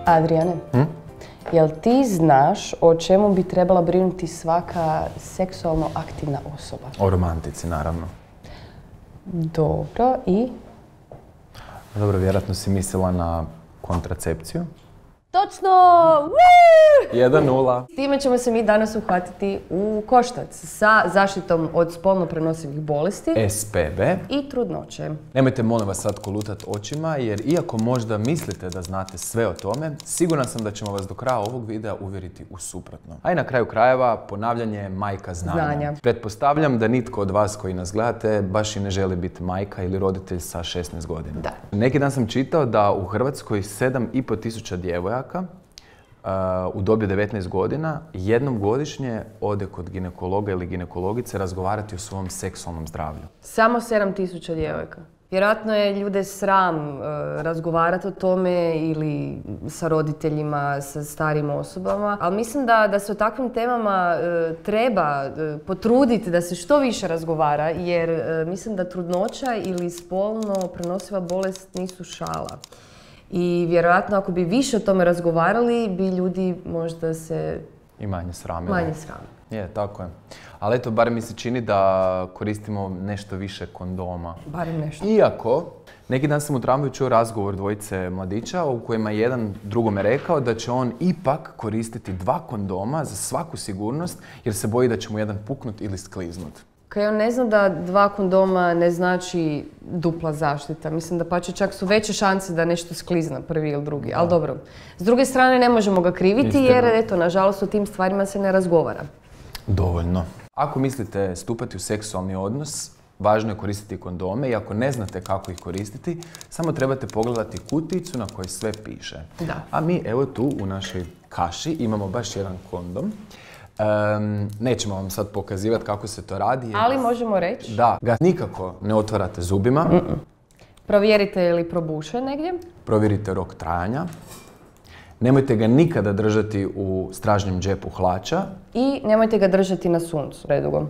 Adriane, jel ti znaš o čemu bi trebala brinuti svaka seksualno aktivna osoba? O romantici, naravno. Dobro, i? Dobro, vjerojatno si mislila na kontracepciju. Točno! 1:0. S time ćemo se mi danas uhvatiti u koštac sa zaštitom od spolno prenosivih bolesti SPB. i trudnoće. Nemojte molim vas sad kolutat očima, jer iako možda mislite da znate sve o tome, siguran sam da ćemo vas do kraja ovog videa uvjeriti u suprotno. A i na kraju krajeva, ponavljanje je majka znanja. Pretpostavljam da nitko od vas koji nas gledate baš i ne želi biti majka ili roditelj sa 16 godina. Da. Neki dan sam čitao da u Hrvatskoj 7.500 djevojaka u dobi 19 godina jednom godišnje ode kod ginekologa ili ginekologice razgovarati o svom seksualnom zdravlju. Samo 7.000 djevojka. Vjerojatno je ljude sram razgovarati o tome ili sa roditeljima, sa starim osobama, ali mislim da se o takvim temama treba potruditi da se što više razgovara, jer mislim da trudnoća ili spolno prenosiva bolest nisu šala. I vjerojatno ako bi više o tome razgovarali, bi ljudi možda se i manje sramili. Manje sramili. Je, tako je. Ali eto, bar mi se čini da koristimo nešto više kondoma. Barem nešto. Iako, neki dan sam u tramvaju čuo razgovor dvojice mladića u kojima je jedan drugome rekao da će on ipak koristiti 2 kondoma za svaku sigurnost jer se boji da će mu jedan puknut ili skliznut. Kaj on ne zna da 2 kondoma ne znači dupla zaštita. Mislim da pače čak su veće šanse da nešto sklizna prvi ili drugi. Ali dobro. S druge strane ne možemo ga kriviti jer eto, nažalost o tim stvarima se ne razgovara. Dovoljno. Ako mislite stupati u seksualni odnos, važno je koristiti kondome i ako ne znate kako ih koristiti, samo trebate pogledati kutijicu na kojoj sve piše. Da. A mi evo tu u našoj kaši imamo baš jedan kondom. Nećemo vam sad pokazivati kako se to radi. Ali možemo reći da ga nikako ne otvarate zubima. Provjerite je li probušen negdje. Provjerite rok trajanja. Nemojte ga nikada držati u stražnjem džepu hlača. I nemojte ga držati na suncu predugo.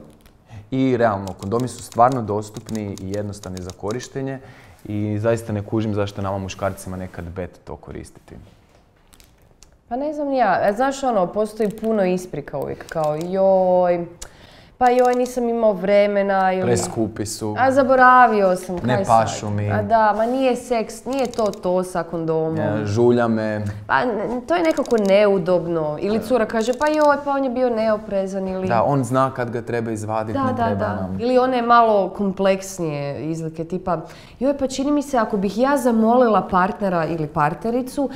I realno, kondomi su stvarno dostupni i jednostavni za korištenje i zaista ne kužim zašto nama muškarcima nekad bet to koristiti. Pa ne znam ja. Znaš ono, postoji puno isprika uvijek. Kao joj, pa joj nisam imao vremena ili... Preskupi su. A zaboravio sam, kaj ne pašu mi. A da, ma nije seks, nije to sa kondomom. Ja, žulja me. Pa to je nekako neudobno. Ili cura kaže, pa joj, pa on je bio neoprezan ili... Da, on zna kad ga treba izvaditi, ne treba nam. Ili one malo kompleksnije izlike, tipa, joj, pa čini mi se ako bih ja zamolila partnera ili partnericu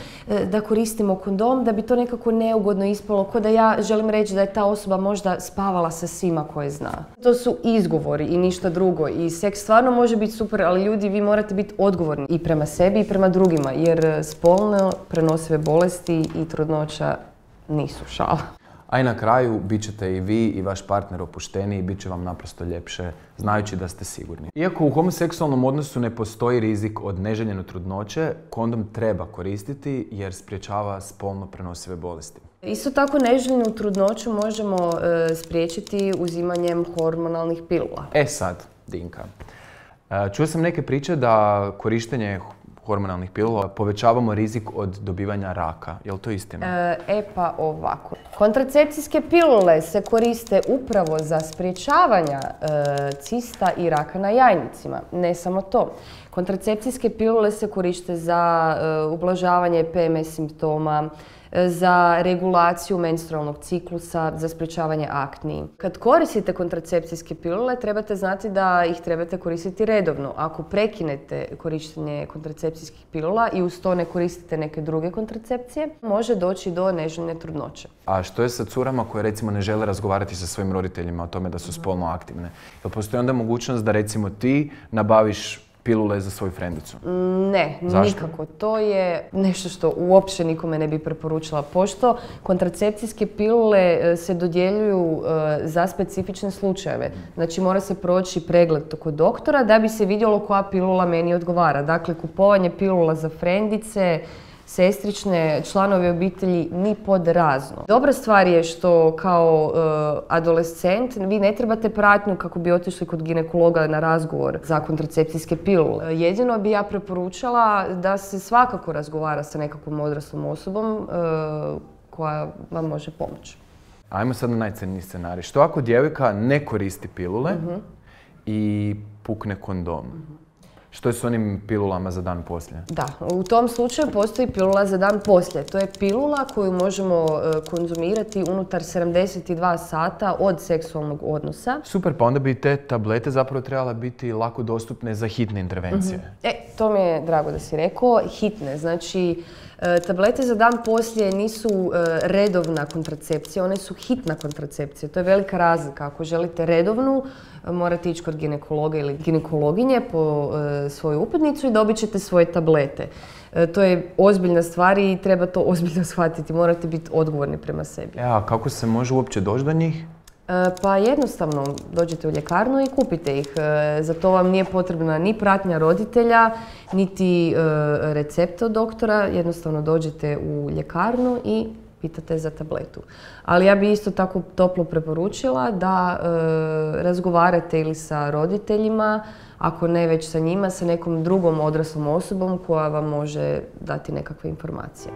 da koristimo kondom, da bi to nekako neugodno ispalo, ko da ja želim reći da je ta osoba možda spavala sa svima koje zna. To su izgovori i ništa drugo. I seks stvarno može biti super, ali ljudi, vi morate biti odgovorni i prema sebi i prema drugima, jer spolno prenosive bolesti i trudnoća nisu šala. A i na kraju, bit ćete i vi i vaš partner opušteniji i bit će vam naprosto ljepše, znajući da ste sigurni. Iako u homoseksualnom odnosu ne postoji rizik od neželjene trudnoće, kondom treba koristiti jer sprječava spolno prenosive bolesti. Isto tako neželjenu trudnoću možemo spriječiti uzimanjem hormonalnih pilula. Sad, Dinka. Čuo sam neke priče da korištenje hormonalnih pilula povećavamo rizik od dobivanja raka. Je li to istina? Pa ovako. Kontracepcijske pilule se koriste upravo za sprječavanja cista i raka na jajnicima. Ne samo to. Kontracepcijske pilule se koriste za ublažavanje PMS simptoma, za regulaciju menstrualnog ciklusa, za sprječavanje akni. Kad koristite kontracepcijske pilule, trebate znati da ih trebate koristiti redovno. Ako prekinete korištenje kontracepcijskih pilula i uz to ne koristite neke druge kontracepcije, može doći do neželjene trudnoće. A što je sa curama koje recimo ne žele razgovarati sa svojim roditeljima o tome da su spolno aktivne? Jel postoji onda mogućnost da recimo ti nabaviš pilule za svoju frendicu? Ne, nikako. To je nešto što uopće nikome ne bi preporučila. Pošto kontracepcijske pilule se dodjeljuju za specifične slučajeve. Znači mora se proći pregled kod doktora da bi se vidjelo koja pilula meni odgovara. Dakle, kupovanje pilula za frendice sestrične, članovi obitelji ni pod razno. Dobra stvar je što kao adolescent vi ne trebate pratnju kako bi otišli kod ginekologa na razgovor za kontracepcijske pilule. Jedino bi ja preporučala da se svakako razgovara sa nekakvom odraslom osobom koja vam može pomoći. Ajmo sad na najcrniji scenarij. Što ako djevojka ne koristi pilule i pukne kondom? Što je s onim pilulama za dan poslije? Da, u tom slučaju postoji pilula za dan poslije. To je pilula koju možemo konzumirati unutar 72 sata od seksualnog odnosa. Super, pa onda bi te tablete zapravo trebala biti lako dostupne za hitne intervencije. To mi je drago da si rekao. Hitne, znači tablete za dan poslije nisu redovna kontracepcija, one su hitna kontracepcija. To je velika razlika. Ako želite redovnu, morate ići kod ginekologa ili ginekologinje po svoju uputnicu i dobit ćete svoje tablete. To je ozbiljna stvar i treba to ozbiljno shvatiti. Morate biti odgovorni prema sebi. A kako se može uopće doći do njih? Pa jednostavno, dođete u ljekarnu i kupite ih. Za to vam nije potrebna ni pratnja roditelja, niti recept od doktora. Jednostavno dođete u ljekarnu i pitate za tabletu. Ali ja bi isto tako toplo preporučila da razgovarate ili sa roditeljima, ako ne već sa njima, sa nekom drugom odraslom osobom koja vam može dati nekakve informacije.